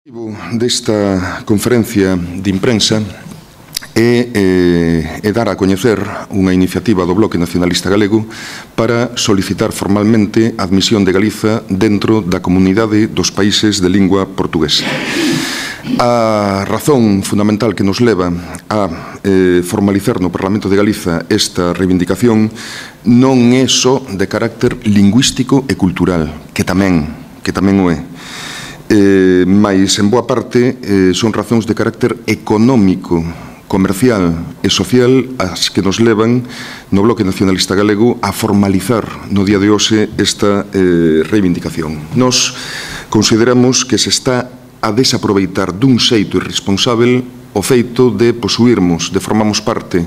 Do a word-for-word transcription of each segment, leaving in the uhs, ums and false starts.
O objetivo desta conferencia de imprensa é, eh, é dar a coñecer unha iniciativa do Bloque Nacionalista Galego para solicitar formalmente a admisión de Galiza dentro da comunidade dos países de lingua portuguesa. A razón fundamental que nos leva a eh, formalizar no Parlamento de Galiza esta reivindicación non é só de carácter lingüístico e cultural, que tamén, que tamén o é. Eh, mais, en boa parte, eh, son razóns de carácter económico, comercial e social as que nos levan no Bloque Nacionalista Galego a formalizar no día de hoxe esta eh, reivindicación. Nos consideramos que se está a desaproveitar dun xeito irresponsável o feito de posuirmos, de formamos parte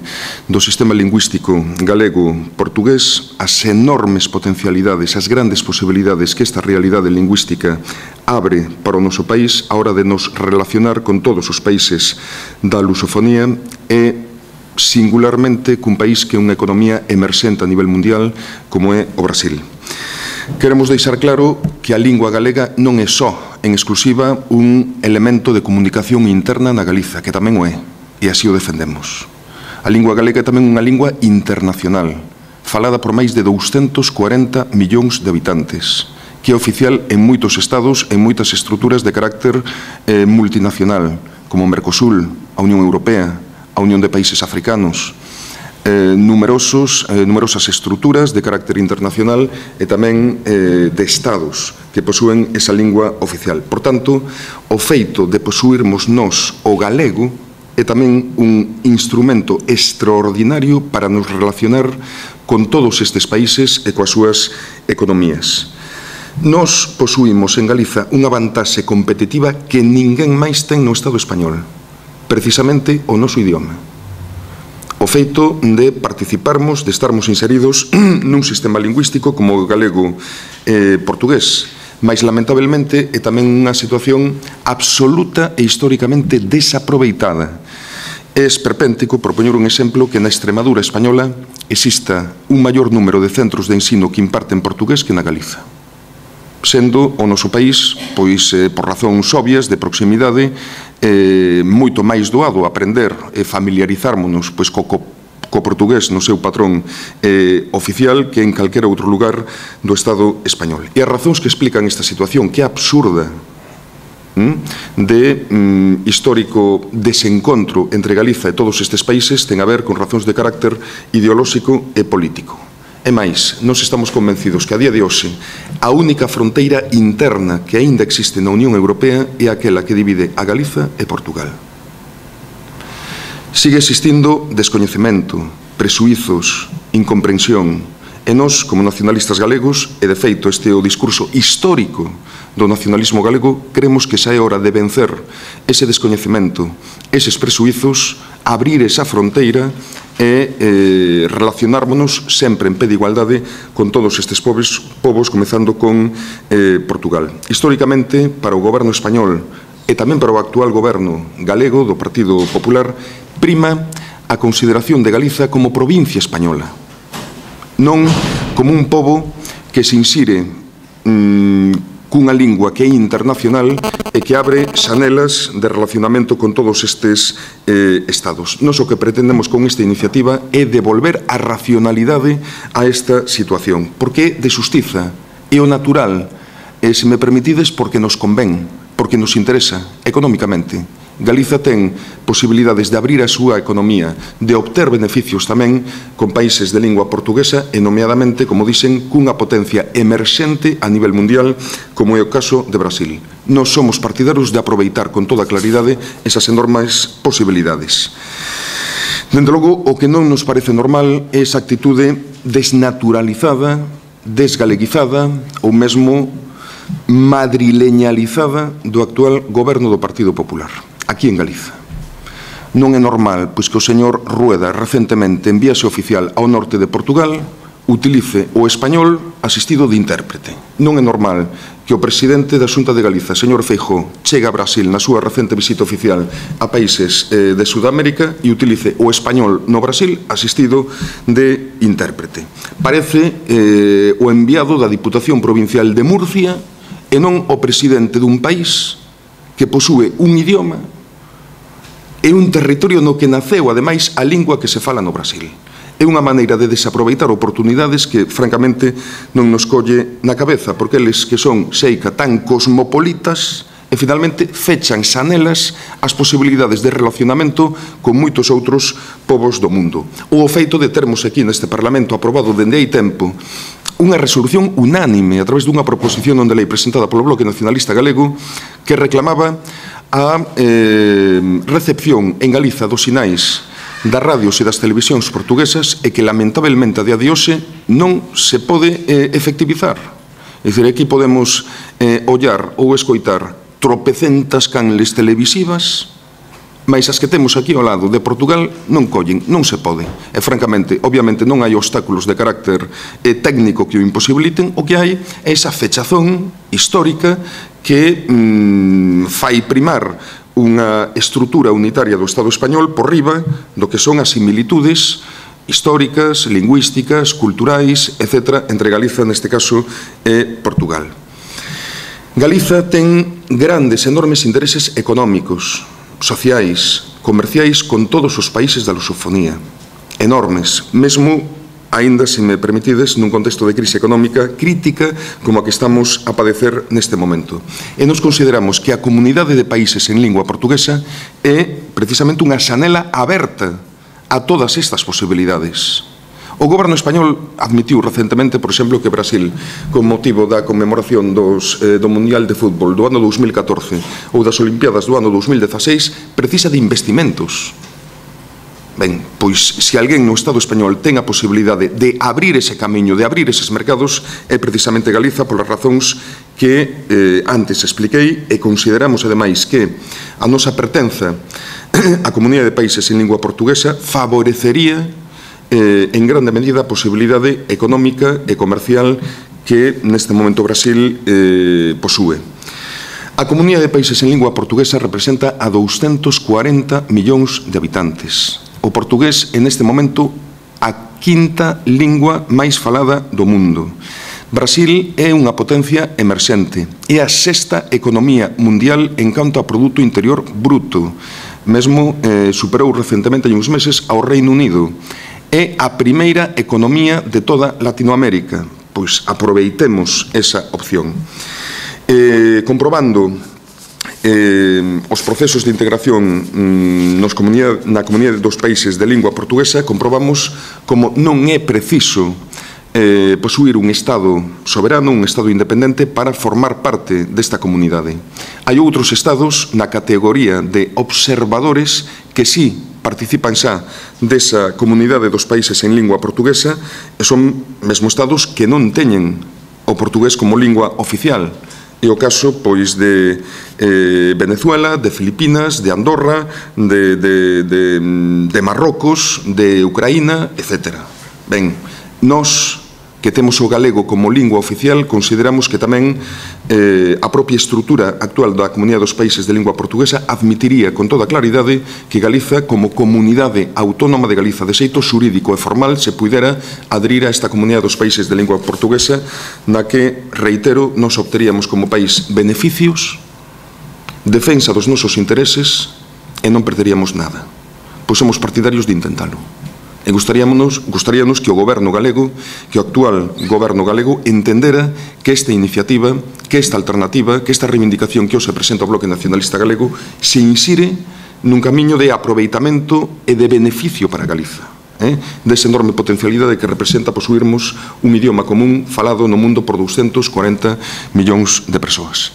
do sistema lingüístico galego-portugués, as enormes potencialidades, as grandes posibilidades que esta realidade lingüística abre para o noso país a hora de nos relacionar con todos os países da lusofonía e singularmente cun país que é unha economía emerxente a nivel mundial como é o Brasil. Queremos deixar claro que a lingua galega non é só, en exclusiva, un elemento de comunicación interna na Galiza, que tamén o é, e así o defendemos. A lingua galega é tamén unha lingua internacional, falada por máis de douscentos corenta millóns de habitantes, que é oficial en moitos estados, en moitas estruturas de carácter eh, multinacional, como o Mercosur, a Unión Europea, a Unión de Países Africanos, Eh, numerosos, eh, numerosas estruturas de carácter internacional e tamén eh, de estados que posúen esa lingua oficial. Por tanto, o feito de posuirmos nós o galego é tamén un instrumento extraordinario para nos relacionar con todos estes países e coas súas economías. Nós posuímos en Galiza unha vantaxe competitiva que ninguén máis ten no Estado español, precisamente o noso idioma. O feito de participarmos, de estarmos inseridos nun sistema lingüístico como o galego-portugués, mas lamentablemente é tamén unha situación absoluta e históricamente desaproveitada. É esperpéntico, por poñer un exemplo, que na Extremadura española exista un maior número de centros de ensino que imparten portugués que na Galiza, sendo o noso país, pois, eh, por razóns obvias de proximidade, eh, moito máis doado aprender e familiarizármonos pois, co, co, co portugués no seu patrón eh, oficial que en calquera outro lugar do Estado español. E as razóns que explican esta situación, que é absurda, hm, de hm, histórico desencontro entre Galiza e todos estes países, ten a ver con razóns de carácter ideolóxico e político. E máis, nós estamos convencidos que a día de hoxe a única fronteira interna que aínda existe na Unión Europea é aquela que divide a Galiza e Portugal. Sigue existindo descoñecemento, presuizos, incomprensión, e nós, como nacionalistas galegos, e de feito este é o discurso histórico do nacionalismo galego, creemos que xa é hora de vencer ese descoñecemento, eses presuizos, abrir esa fronteira e eh, relacionármonos sempre en pé de igualdade con todos estes povos, povos comezando con eh, Portugal. Históricamente, para o goberno español e tamén para o actual goberno galego do Partido Popular, prima a consideración de Galiza como provincia española, non como un pobo que se insire mmm, cunha lingua que é internacional e que abre xanelas de relacionamento con todos estes eh, estados. Nos o que pretendemos con esta iniciativa é devolver a racionalidade a esta situación, porque é de xustiza, é o natural, e, se me permitides, porque nos convén, porque nos interesa económicamente. Galiza ten posibilidades de abrir a súa economía, de obter beneficios tamén con países de lingua portuguesa e, nomeadamente, como dicen, cunha potencia emerxente a nivel mundial, como é o caso de Brasil. Nós somos partidarios de aproveitar con toda claridade esas enormes posibilidades. Dende logo, o que non nos parece normal é esa actitude desnaturalizada, desgaleguizada ou mesmo madrileñalizada do actual goberno do Partido Popular, aquí en Galiza. Non é normal pois, que o señor Rueda recentemente en viaxe oficial ao norte de Portugal utilice o español asistido de intérprete. Non é normal que o presidente da Xunta de Galiza, señor Feijóo, chegue a Brasil na súa recente visita oficial a países eh, de Sudamérica e utilice o español no Brasil asistido de intérprete. Parece eh, o enviado da Diputación Provincial de Murcia e non o presidente dun país que posúe un idioma e un territorio no que naceu, ademais, a lingua que se fala no Brasil. É unha maneira de desaproveitar oportunidades que, francamente, non nos colle na cabeza, porque eles que son, seica, tan cosmopolitas, e finalmente fechan xanelas as posibilidades de relacionamento con moitos outros povos do mundo. O feito de termos aquí neste Parlamento aprobado dende hai tempo unha resolución unánime a través dunha proposición non de lei presentada polo Bloque Nacionalista Galego que reclamaba a eh, recepción en Galiza dos sinais das radios e das televisións portuguesas e que lamentablemente a día de hoxe non se pode eh, efectivizar. É dicir, aquí podemos eh, ollar ou escoitar tropecentas canles televisivas, mas as que temos aquí ao lado de Portugal non collen, non se pode. E, francamente, obviamente non hai obstáculos de carácter eh, técnico que o imposibiliten, o que hai é esa fechazón histórica que mm, fai primar unha estrutura unitaria do Estado español por riba do que son as similitudes históricas, lingüísticas, culturais, etcétera, entre Galiza, neste caso, e Portugal. Galiza ten grandes, enormes intereses económicos, sociais, comerciais con todos os países da lusofonía. Enormes, mesmo, aínda, se me permitides, nun contexto de crise económica crítica como a que estamos a padecer neste momento. E nos consideramos que a comunidade de países en lingua portuguesa é precisamente unha xanela aberta a todas estas posibilidades. O goberno español admitiu recentemente, por exemplo, que Brasil, con motivo da conmemoración dos, eh, do Mundial de Fútbol do ano dous mil catorce ou das Olimpiadas do ano dous mil dezaseis, precisa de investimentos. Ben, pois, se alguén no Estado español ten a posibilidade de abrir ese camiño, de abrir eses mercados, é precisamente Galiza, polas razóns que eh, antes expliquei, e consideramos, ademais, que a nosa pertenza á Comunidade de Países en lingua portuguesa favorecería Eh, en grande medida a posibilidade económica e comercial que neste momento Brasil eh, posúe. A Comunidade de Países en lingua portuguesa representa a douscentos cuarenta millóns de habitantes. O portugués é neste momento a quinta lingua máis falada do mundo. Brasil é unha potencia emerxente, é a sexta economía mundial en canto a Produto Interior Bruto. Mesmo eh, superou recentemente hai uns meses ao Reino Unido. É a primeira economía de toda Latinoamérica, pois aproveitemos esa opción. Eh, comprobando eh, os procesos de integración mm, nos comunidade, na comunidade dos países de lingua portuguesa, comprobamos como non é preciso eh, posuir un Estado soberano, un Estado independente para formar parte desta comunidade. Hai outros Estados na categoría de observadores que sí participan xa desa comunidade dos países en lingua portuguesa e son mesmo estados que non teñen o portugués como lingua oficial. É o caso, pois, de eh, Venezuela, de Filipinas, de Andorra, de, de, de, de Marrocos, de Ucraína, etcétera. Ben, nós que temos o galego como lingua oficial, consideramos que tamén eh, a propia estrutura actual da Comunidade dos Países de lingua portuguesa admitiría con toda claridade que Galiza, como comunidade autónoma de Galiza, de xeito xurídico e formal, se pudera adherir a esta Comunidade dos Países de lingua portuguesa, na que, reitero, nos obteríamos como país beneficios, defensa dos nosos intereses e non perderíamos nada. Pois somos partidarios de intentalo. E gustaríanos, gustaríanos que o goberno galego, que o actual goberno galego, entendera que esta iniciativa, que esta alternativa, que esta reivindicación que hoxe presenta o Bloque Nacionalista Galego se insire nun camiño de aproveitamento e de beneficio para Galiza, eh? desa enorme potencialidade que representa posuirmos un idioma común falado no mundo por douscentos cuarenta millóns de persoas.